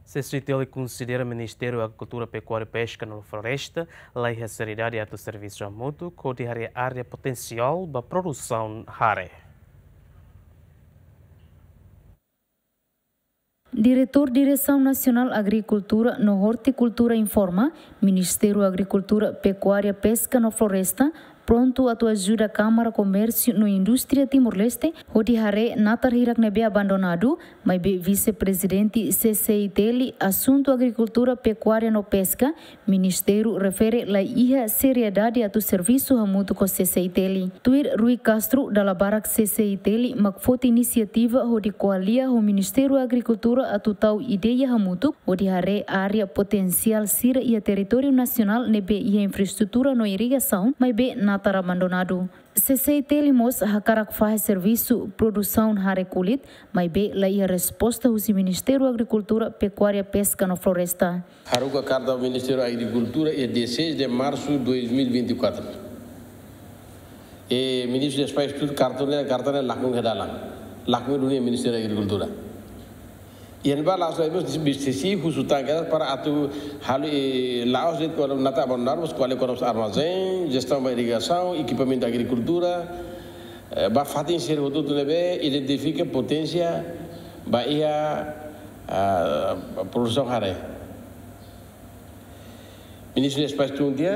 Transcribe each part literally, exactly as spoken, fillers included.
CCI-TL konsidera Ministériu Agrikultura, Pekuária, Peska no Floresta la iha seriedade atu servisu hamutuk hodi haree área potensiál ba produsaun hare. Diretór Diresaun Nasionál Agrikultura no Ortikultura informa, Ministériu Agrikultura, Pekuária, Peska no Floresta prontu atu ajuda Kámara Komérsiu no Indústria Timor-Leste hodi haree natar hirak ne'ebé abandonadu, maibé Vise-Prezidente CCI-TL asuntu agrikultura, pekuária no peska, ministériu refere la iha seriedade atu servisu hamutuk ho CCI-TL. Tuir Rui Castro, dala barak CCI-TL mak foti inisiativa hodi ko'alia ho Ministériu Agrikultura atu tau ideia hamutuk hodi haree área potensiál sira iha territóriu nasionál ne'ebé iha infraestrutura no irrigasaun, maibé natar abandonadu. CCI-TL mós hakarak fahe servisu produsaun hare kulit, maibé la iha resposta husi Ministériu Agrikultura, Pekuária, Peska no Floresta. Haruka karta Ministériu Agrikultura iha dezasseis de março de dois mil e vinte e quatro. E Ministru Despaix tuir karta ne'e, karta ne'e lakon iha dalan. Lakon duni Ministériu Agrikultura. Iha ne'ebá la'ós, la'ós, bis-, bis-, CCI husu tan kedas para atu halo, eh, la'ós de'it kuandu natar abandonadu, mas ko'alia kona-ba armazén, jestaun ba irrigasaun, ekipamentu agrikultura, eh, ba fatin sira hotu-hotu ne'ebé identifika poténsia ba iha, ah, produsaun hare. Ministru Despaix tun tiha,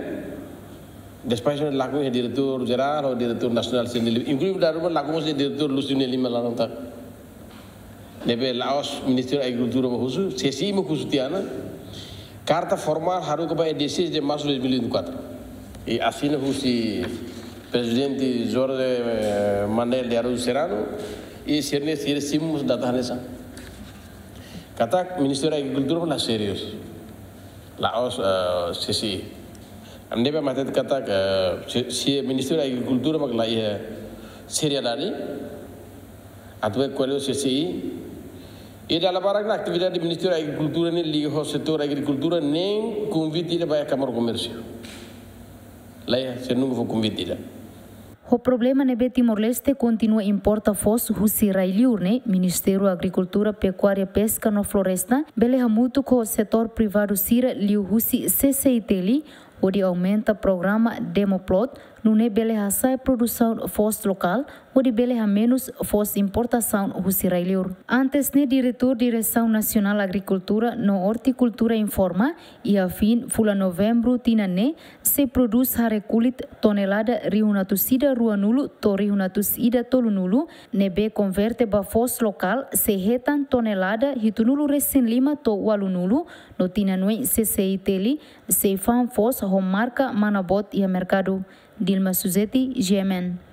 Despaix lakon iha diretór jerál, ou diretór nasionál sira-nia liman, inklui dala ruma lakon mós iha diretór Lúcio nia liman laran tan. Ne'ebé la'ós Ministériu Agrikultura mak husu, CCI mak husu tiha ona. Karta formál haruka ba iha dezasseis de março de dois mil e vinte e quatro. I asina husi Prezidente José, eh, Manuel de Araújo Serrano, i sira-nia, sira simu mós data hanesan. Katak Ministériu Agrikultura la sériu. La'ós, eh, CCI. Ami ne'ebé hateten katak, eh, se, se Ministériu Agrikultura mak la iha seriedade atu ko'alia ho CCI. I dala barak ona atividade Ministériu Agrikultura ne'e liga ho setór agrikultura, nein konvite ida ba iha Kámara Komérsiu. La iha, sira nunka fó konvite ida. Ho problema ne'ebé Timor-Leste kontinua importa foos husi rai-liur ne'e, Ministériu Agrikultura, Pekuária, Peska no Floresta bele hamutuk ho setór privadu sira liuhusi CCI-TL hodi aumenta programa Demoplot, nune'e bele hasa'e produsaun foos lokál, hodi bele hamenus foos importasaun husi rai-liur. Antes ne'e, Diretór Diresaun Nasionál Agrikultura no Ortikultura informa, iha fin fulan Novembru tinan ne'e, sei prodús hare kulit tonelada rihun atus ida ruanulu to'o rihun atus ida tolunulu, ne'ebé konverte ba foos lokál sei hetan tonelada hitunulu resin lima to'o ualunulu, no tinan oin CCI-TL sei fa'an foos ho marka Manabot iha merkadu. Dilma Suzeti, GMN.